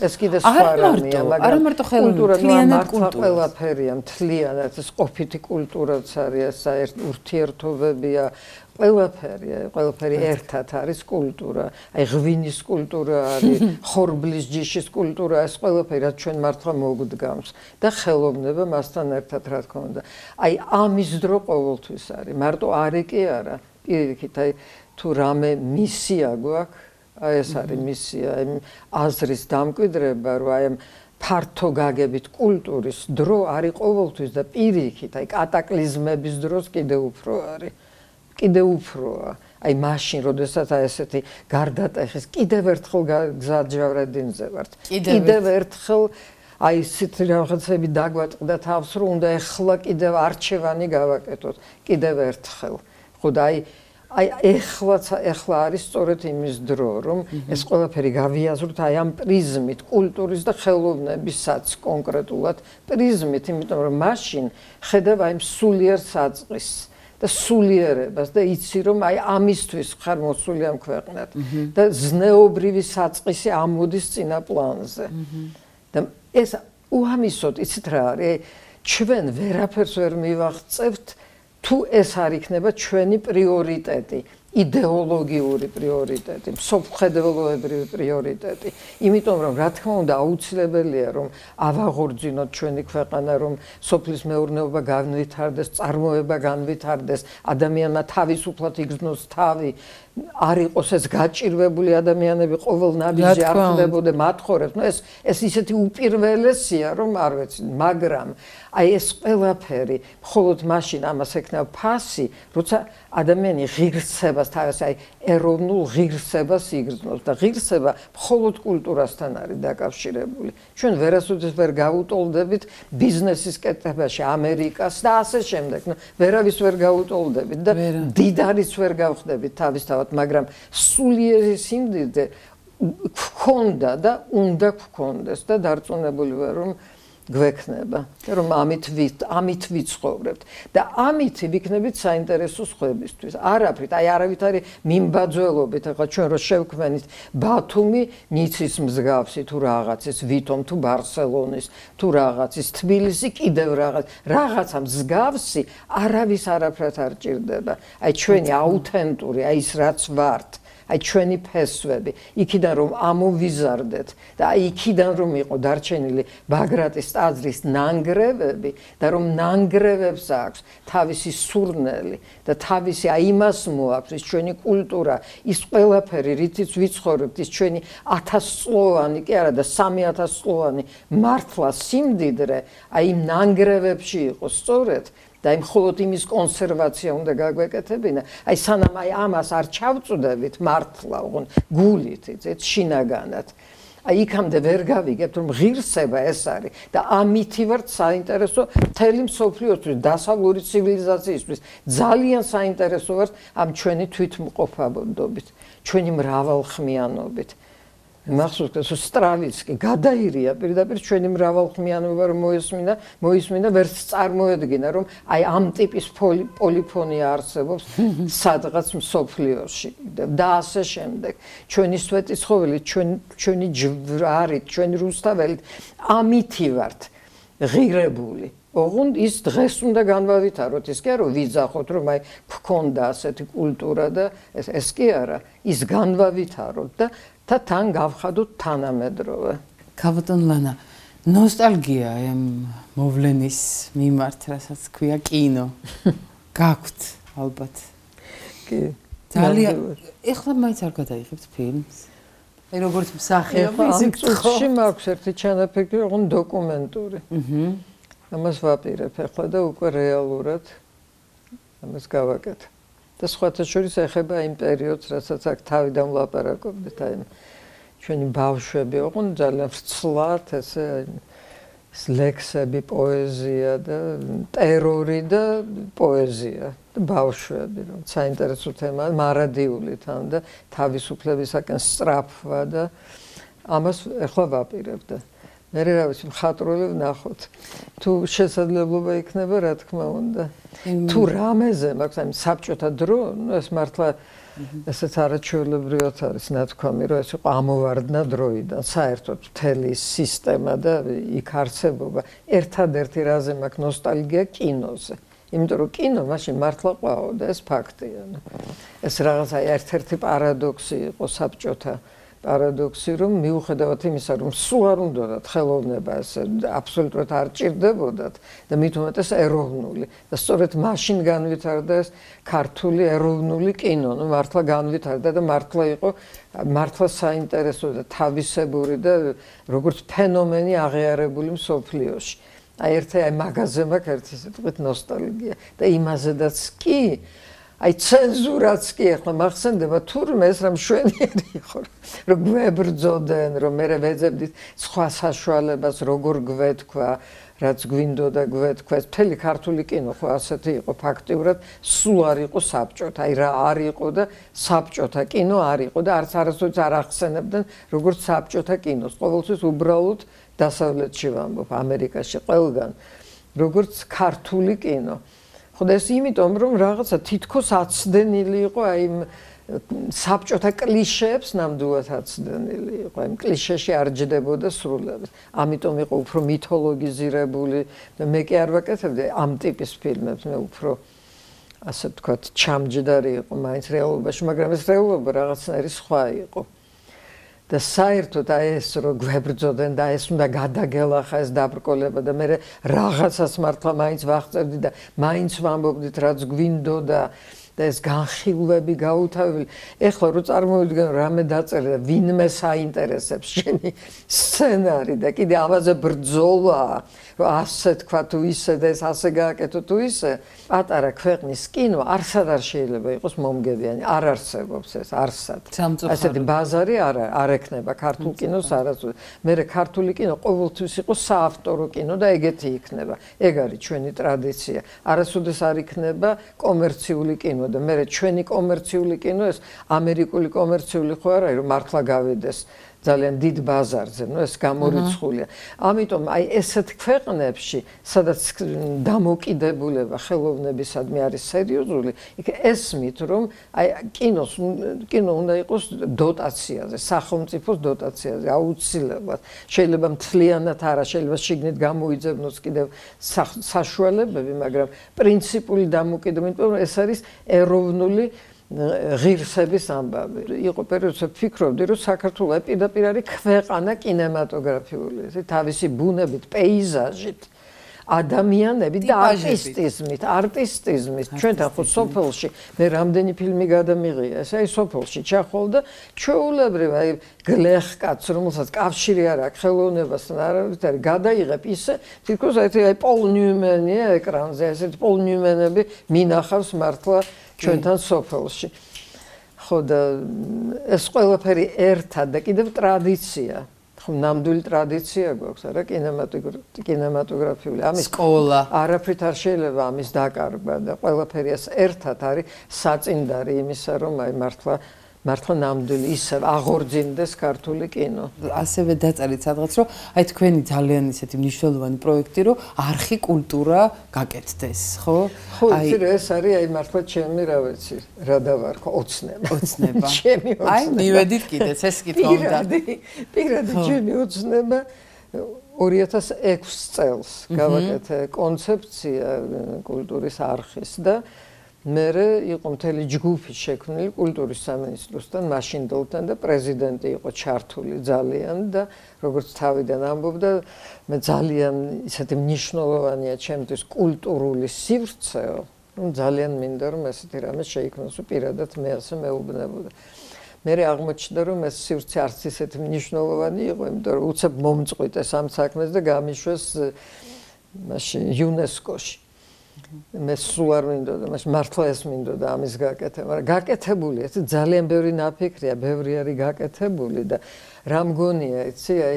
ეს კიდე სხვა რამეა, მაგრამ კულტურა მართლა ყველაფერია, მთლიანად ეს ყოფითი კულტურაც არის, ეს ურთიერთობებია, ყველაფერია, ყველაფერი ერთად არის კულტურა. აი ღვინის კულტურა არის, ხორბლის ჯიშის კულტურა, ეს ყველაფერი რაც ჩვენ მართლა მოგდგამს და ხელოვნება მასთან ერთად რა თქმა უნდა. აი ამის დრო ყოველთვის არის, მარტო არი კი არა, პირიქით, აი თუ რამე მისია გვაქვს, აი ეს არის მისია, აი აზრის დამკვიდრება, რომ აი ფართო გაგებით კულტურის დრო არის ყოველთვის და პირიქით, აი კატაკლიზმების დროს კიდე უფრო არის. კიდე უფროა. აი მაშინ, როდესაც აი ესეთი გარდატეხის კიდევ ერთხელ გზაჯვარედინზე ვართ. კიდევ ერთხელ აი ისეთ რაღაცები დაგვატყდა თავს, რომ უნდა ეხლა კიდევ არჩევანი გავაკეთოთ. კიდევ ერთხელ. ხო და აი აი ეხლაც ეხლა არის სწორედ იმის დრო, რომ ეს ყველაფერი გავიაზროთ აი ამ პრიზმით, კულტურის და ხელოვნებისაც კონკრეტულად პრიზმით, იმიტომ რომ მაშინ ხედავ აი სულიერ საწყისს და სულიერებას და იცი რომ აი ამისთვის ხარ მოსული ამ ქვეყნად და ზნეობრივი საწყისი ამოდის წინა პლანზე. და ეს უამისოდ იცით რა არის, ჩვენ ვერაფერს ვერ მივაღწევთ თუ ეს არ იქნება ჩვენი პრიორიტეტი. იდეოლოგიური პრიორიტეტი, მსოფლმხედველობრივი პრიორიტეტი. იმიტომ რომ რა თქმა უნდა აუცილებელია რომ ავაღორძინოთ ჩვენი ქვეყანა, რომ სოფლის მეურნეობა განვითარდეს, წარმოება განვითარდეს, ადამიანმა თავისუფლად იგრძნოს თავი, არ იყოს ეს გაჭირვებული ადამიანები ყოველ ნაბიჯზე არ ხდებოდა მათხოვრებს. ნუ ეს ეს ისეთი უპირველესია რომ არ ვიცი, მაგრამ აი ეს ყველაფერი მხოლოდ მაშინ ამას ექნება ფასი, როცა ადამიანი ღირსებას თავის აი ეროვნულ ღირსებას იგრძნობს და ღირსება მხოლოდ კულტურასთან არის დაკავშირებული. ჩვენ ვერასოდეს ვერ გავუტოლდებით ბიზნესის კეთებაში ამერიკას და ასე შემდეგ. ნუ ვერავის ვერ გავუტოლდებით და დიდარიც ვერ გავხდებით თავისთავად, მაგრამ სულიერი სიმდიდრე გქონდა და უნდა გქონდეს და დარწმუნებული ვარ რომ გვექნება და რომ ამით ვით ამით ვიცხოვრებთ და ამით ვიქნებით საინტერესო სხვებისთვის. არაფრით, აი არავით არის მიმბაძველობით, ახლა ჩვენ რო შევქმნით ბათუმი, ნიცის მსგავსი თუ რაღაცის, ვითომ თუ ბარსელონის თუ რაღაცის, თბილისი კიდევ რაღაც, რაღაცა მსგავსი არავის არაფრად არ ჭირდება. აი ჩვენი აუთენტური, აი ის რაც ვართ, აი ჩვენი ფესვები, იქიდან რომ ამოვიზარდეთ და აი იქიდან რომ იყო დარჩენილი ბაგრატის ტაძრის ნანგრევები და რომ ნანგრევებს აქვს თავისი სურნელი და თავისი აი იმას მოაქვს ის ჩვენი კულტურა, ის ყველაფერი, რითიც ვიცხოვრებთ, ის ჩვენი ათასწლოვანი კი არა და სამი ათასწლოვანი მართლა სიმდიდრე, აი იმ ნანგრევებში იყო სწორედ და იმ მხოლოდ იმის კონსერვაცია უნდა გაგვეკეთებინა. აი სანამ აი ამას არ ჩავწუდებით მართლა, ოღონდ გულით, იცით, შინაგანად. აი იქამდე ვერ გავიგებთ რომ ღირსება ეს არის და ამითი ვართ საინტერესო მთელი მსოფლიოსთვის, დასავლური ცივილიზაციისთვის. ძალიან საინტერესო ვართ ამ ჩვენი თვითმყოფადობით, ჩვენი მრავალხმიანობით. მახსოვს სტრავიცკი გადაირია პირდაპირ ჩვენი მრავალხმიანობა რომ მოისმინა, მოისმინა ვერც წარმოედგინა რომ აი ამ ტიპის პოლიფონია არსებობს სადღაც მსოფლიოში და ასე შემდეგ. ჩვენი სვეტიცხოველით, ჩვენი ჩვენი ჯვარით, ჩვენი რუსთაველით ამითი ვართ ღირებული. ოღონდ ის დღეს უნდა განვავითაროთ, ის კი არა რომ ვიძახოთ რომ აი გქონდა ასეთი კულტურა და ეს ეს კი არა, ის განვავითაროთ და და თან გავხადოთ თანამედროვე. ქაბატონ ლანა, ნოსტალგია აი ამ მოვლენის მიმართ, რასაც ქვია კინო. გაქვთ ალბათ. კი. ძალიან ეხლა მაინც არ გადაიღებთ ფილმს. აი როგორც მსახიობი ისე წუთში მაქვს ერთი ჩანაფიქრი, ოღონდ დოკუმენტური. აჰა. ამას ვაპირებ ახლა და უკვე რეალურად ამას გავაკეთე. და სხვათა შორის ეხება იმ პერიოდს, რასაც აქ თავიდან ვლაპარაკობდით, აი ჩვენი ბავშვები, ოღონდ ძალიან ვრცლად ესე ლექსები, პოეზია და ტერორი და პოეზია და ბავშვები, რომ საინტერესო თემაა, მარადიული თან და თავისუფლებისაკენ სწრაფვა და ამას ახლა ვაპირებ და მე რა ვიცი, მხატვრული ვნახოთ. თუ შესაძლებლობა იქნება, რა თქმა უნდა. თუ რამეზე მაქვს, აი საბჭოთა დრო, ეს მართლა ესეც არაჩვეულებრივად არის ნათქვამი, რომ ეს იყო ამოვარდნა დროიდან, საერთოდ მთელი სისტემა და იქ არსებობა. ერთადერთი რაზე მაქვს ნოსტალგია კინოზე. იმიტომ რომ კინო მაშინ მართლა ყვაოდა, ეს ფაქტია. ეს რაღაცა ერთ-ერთი პარადოქსი იყო საბჭოთა პარადოქსი, რომ მიუხედავად იმისა, რომ სულ არ უნდათ ხელოვნება, ეს აბსოლუტურად არ ჭირდებოდათ და მით უმეტეს ეროვნული და სწორედ მაშინ განვითარდა ეს ქართული ეროვნული კინო, ნუ მართლა განვითარდა და მართლა იყო მართლა საინტერესო და თავისებური და როგორც ფენომენი აღიარებული მსოფლიოში. აი ერთი აი მაღაზია მაქვს ერთი სიტყვით ნოსტალგია და იმაზედაც კი აი ცენზურაც კი ახლა მახსენდება თურმე ეს რა მშვენიერი იყო რომ გვებრძოდნენ რომ მე ვეძებდით სხვა საშუალებას როგორ გვეთქვა რაც გვინდოდა გვეთქვა ეს მთელი ქართული კინო ხო ასეთი იყო ფაქტიურად სულ არ იყო საბჭოთა აი რა არ იყო და საბჭოთა კინო არ იყო და არც არასოდეს არ ახსენებდნენ როგორც საბჭოთა კინოს ყოველთვის უბრალოდ დასავლეთში ვამბობ ამერიკაში ყველგან როგორც ქართული კინო ხოდა ეს იმიტომ რომ რაღაცა თითქოს აცდენილი იყო აი საბჭოთა კლიშეებს ნამდვილად აცდენილი იყო აი კლიშეში არ ჯდებოდა სრულიად ამიტომ იყო უფრო მითოლოგიზირებული და მე კი არ ვაკეთებდი ამ ტიპის ფილმებს მე უფრო ასე ვთქვათ, ჩამჯდარი იყო მაინც რეალობაში, მაგრამ ეს რეალობა რაღაცნაირი სხვა იყო. და საერთოდ აი ეს რო გვებრძოდნენ და ეს უნდა გადაგელახა ეს დაბრკოლება და მე რაღაცას მართლა მაინც ვახწევდი და მაინც ვამბობდით რაც გვინდოდა და ეს განხილვები გაუთავებელი. ეხლა რო წარმოვიდგენ რამე დაწერე და ვინმე საინტერესებს შენი სცენარი და კიდე ამაზე ბრძოლა, რომ ასე თქვა თუ ისე და ეს ასე გააკეთო თუ ისე, პატარა ქვეყნის კინო არსად არ შეიძლება იყოს მომგებიანი, არ არსებობს ეს, არსად. ასეთი ბაზარი არ არ ექნება ქართულ კინოს არასოდეს. მე ქართული კინო ყოველთვის იყო საავტორო კინო და ეგეთი იქნება. ეგ არის ჩვენი ტრადიცია. არასოდეს არ იქნება კომერციული კინო. და მე ჩვენი კომერციული კინო ეს ამერიკული კომერციული ხო არა რომ მართლა გავიდეს ძალიან დიდ ბაზარზე, ნუ ეს გამორიცხულია. ამიტომ აი ესეთ ქვეყნებში, სადაც დამოკიდებულება ხელოვნებისადმი არის სერიოზული, იქ ესმით რომ აი კინოს კინო უნდა იყოს დოტაციაზე, სახელმწიფოს დოტაციაზე, აუცილებლად. შეიძლება მთლიანად არა, შეიძლება შიგნით გამოიძებნოს კიდევ საშუალებები, მაგრამ პრინციპული დამოკიდებულება ეს არის ეროვნული ღირსების ამბავი. იყო პერიოდში ვფიქრობდი, რომ საქართველოს პირდაპირ არის ქვეყანა კინემატოგრაფიული, თავისი ბუნებით, პეიზაჟით, ადამიანებით და არტისტიზმით, არტისტიზმით. ჩვენთან ხო სოფელში მე რამდენი ფილმი გადამიღია, ეს აი სოფელში ჩახვალ და ჩვეულებრივ აი გლეხკაც, რომელსაც კავშირი არ აქვს ხელოვნებასთან, არავით არის, გადაიღებ ისე, თითქოს აი პოლ ნიუმენია ეკრანზე, ესეთი პოლ ნიუმენები მინახავს მართლა ჩვენთან სოფელში. ხო და ეს ყველაფერი ერთად და კიდევ ტრადიცია. ხო ნამდვილი ტრადიცია გვაქვს, არა კინემატოგრაფიული. ამის სკოლა. არაფრით არ შეიძლება ამის დაკარგვა და ყველაფერი ეს ერთად არის საწინდარი იმისა, რომ აი მართლა მართლა ნამდვილი ისე აღორძინდეს ქართული კინო. ასევე დაწერით სადღაც, რომ აი თქვენი ძალიან ისეთი მნიშვნელოვანი პროექტი, რომ არხი კულტურა გაკეთდეს, ხო? ხო, ეს არის აი მართლა ჩემი რა ვიცი, რა დავარქვა, ოცნება. ოცნება. ჩემი ოცნება. აი მივედით კიდეც ეს კითხვა უნდა. პირადი ჩემი ოცნება ორი ათას ექვსი წელს გავაკეთე კონცეფცია კულტურის არხის და მერე იყო მთელი ჯგუფი შექმნილი კულტურის სამინისტროსთან, მაშინდელთან და პრეზიდენტი იყო ჩართული ძალიან და როგორც თავიდან ამბობდა, მე ძალიან ისეთი მნიშვნელოვანია ჩემთვის კულტურული სივრცეო, რომ ძალიან მინდა რომ ესეთი რამე შეიქმნას, პირადად მე ასე მეუბნებოდა. მერე აღმოჩნდა რომ ეს სივრცე არც ისეთი მნიშვნელოვანი იყო, იმიტომ რომ უცებ მომწყვიტეს ამ საქმეს და გამიშვეს მაშინ იუნესკოში. მე სულ არ მინდოდა, მას მართლა ეს მინდოდა ამის გაკეთება, მაგრამ გაკეთებულია, ეს ძალიან ბევრი ნაფიქრია, ბევრი არის გაკეთებული და რა მგონია, იცი, აი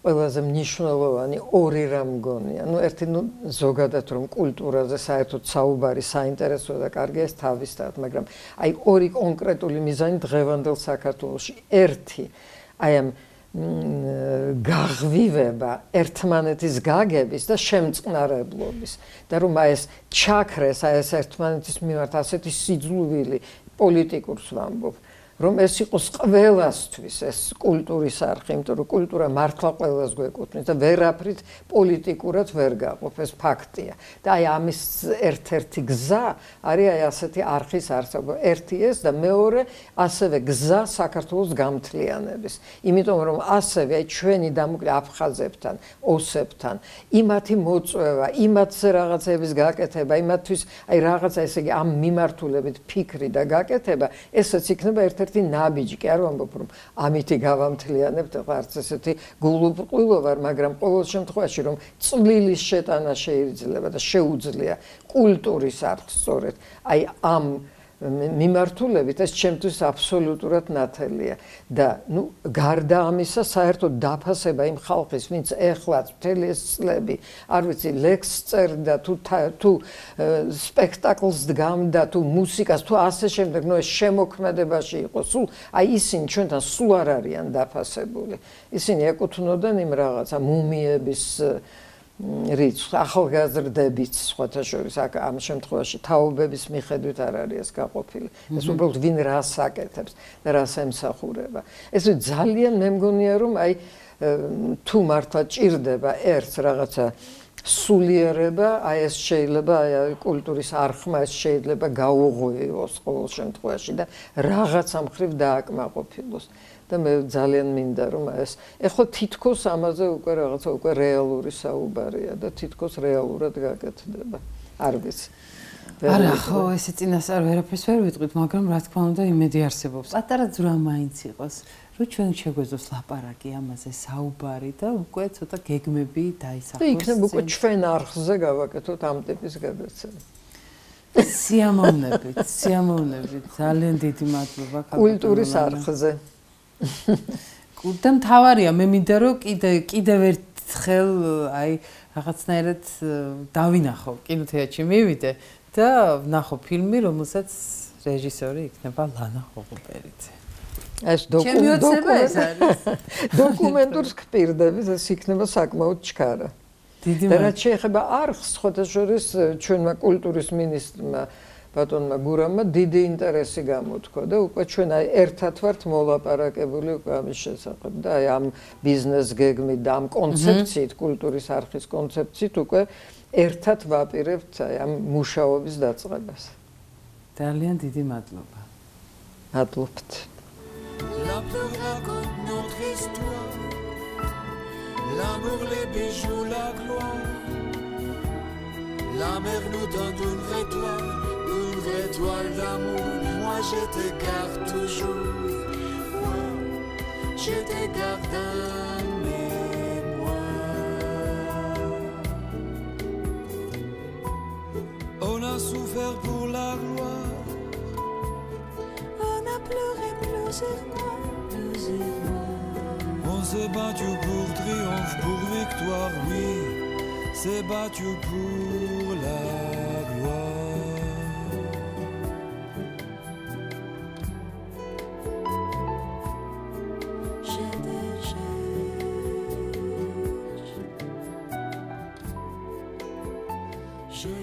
ყველაზე მნიშვნელოვანი ორი რა მგონია. ნუ ერთი ნუ ზოგადად რომ კულტურაზე საერთოდ საუბარი საინტერესოა და კარგია ეს თავისთავად, მაგრამ აი ორი კონკრეტული მიზანი დღევანდელ საქართველოში. ერთი, აი ამ გაღვივება ერთმანეთის გაგების და შემწყნარებლობის და რომ აი ეს ჩაქრეს აი ეს ერთმანეთის მიმართ ასეთი სიძულვილი პოლიტიკურს ვამბობ რომ ეს იყოს ყველასთვის ეს კულტურის არხი, იმიტომ რომ კულტურა მართლა ყველას გვეკუთვნის და ვერაფრით პოლიტიკურად ვერ გაყოფ, ეს ფაქტია. და აი ამის ერთ-ერთი გზა არის აი ასეთი არხის არსებობა. ერთი ეს და მეორე ასევე გზა საქართველოს გამთლიანების. იმიტომ რომ ასევე აი ჩვენი დამოკლე აფხაზებთან, ოსებთან, იმათი მოწვევა, იმათზე რაღაცების გაკეთება, იმათთვის აი რაღაცა ესე იგი ამ მიმართულებით ფიქრი და გაკეთება, ესეც იქნება ერთ ერთი ნაბიჯი, კი არ ვამბობ რომ ამითი გავამთლიანებთ, ახლა არც ესეთი გულუბრყვილო ვარ, მაგრამ ყოველ შემთხვევაში რომ წვლილის შეტანა შეიძლება და შეუძლია კულტურის არხს სწორედ აი ამ მიმართულებით ეს ჩემთვის აბსოლუტურად ნათელია და ნუ გარდა ამისა საერთოდ დაფასება იმ ხალხის, ვინც ეხლაც მთელი ეს წლები, არ ვიცი, ლექსს წერდა თუ თუ სპექტაკლს დგამდა თუ მუსიკას თუ ასე შემდეგ, ნუ ეს შემოქმედებაში იყო, სულ აი ისინი ჩვენთან სულ არ არიან დაფასებული. ისინი ეკუთვნოდნენ იმ რაღაცა მუმიების რიცხვს, ახალგაზრდებით სხვათა შორის ამ შემთხვევაში თაობების მიხედვით არ არის ეს გაყოფილი. ეს უბრალოდ ვინ რას აკეთებს და რას ემსახურება. ეს ძალიან მე მგონია რომ აი თუ მართლა ჭირდება ერთს რაღაცა სულიერება, აი ეს შეიძლება აი კულტურის არხმა ეს შეიძლება გაუღვივოს ყოველ შემთხვევაში და რაღაცა მხრივ დააკმაყოფილოს. და მე ძალიან მინდა რომ ეს ეხლა თითქოს ამაზე უკვე რაღაცა უკვე რეალური საუბარია და თითქოს რეალურად გაკეთდება. არ ვიცი. არა, ხო, ესე წინასწარ ვერაფერს ვერ ვიტყვით, მაგრამ რა თქმა უნდა იმედი არსებობს. პატარა ძვრა მაინც იყოს, რომ ჩვენ შეგვეძლოს ლაპარაკი ამაზე საუბარი და უკვე ცოტა გეგმები დაისახოს. და იქნებ უკვე ჩვენ არხზე გავაკეთოთ ამ ტიპის გადაცემა. სიამოვნებით, სიამოვნებით, ძალიან დიდი მადლობა კულტურის არხზე. და მთავარია, მე მინდა რომ კიდე კიდევ ერთხელ აი რაღაცნაირად დავინახო კინოთეატრში მივიდე და ვნახო ფილმი, რომელსაც რეჟისორი იქნება ლანა ხოღუბერიძე. ეს დოკუმენტურს გპირდებით, ეს იქნება საკმაოდ ჩქარა. დიდი და რაც შეეხება არხს, ხოთაშორის ჩვენმა კულტურის მინისტრმა ბატონმა გურამმა დიდი ინტერესი გამოთქვა და უკვე ჩვენ აი ერთად ვართ მოლაპარაკებული უკვე ამის შესახებ და აი ამ ბიზნეს გეგმით და ამ კონცეფციით, კულტურის არხის კონცეფციით უკვე ერთად ვაპირებთ აი ამ მუშაობის დაწყებას. ძალიან დიდი მადლობა. მადლობთ. L'amour raconte notre histoire, l'amour, les bijoux, la gloire. La mer nous donne une vraie toile, une vraie toile d'amour. Moi je te garde toujours, moi je te garde en mémoire. On a souffert pour la gloire, on a pleuré plusieurs mois, plusieurs mois. On s'est battu pour triomphe, pour victoire, oui. S'est battu pour la gloire. Je te cherche, je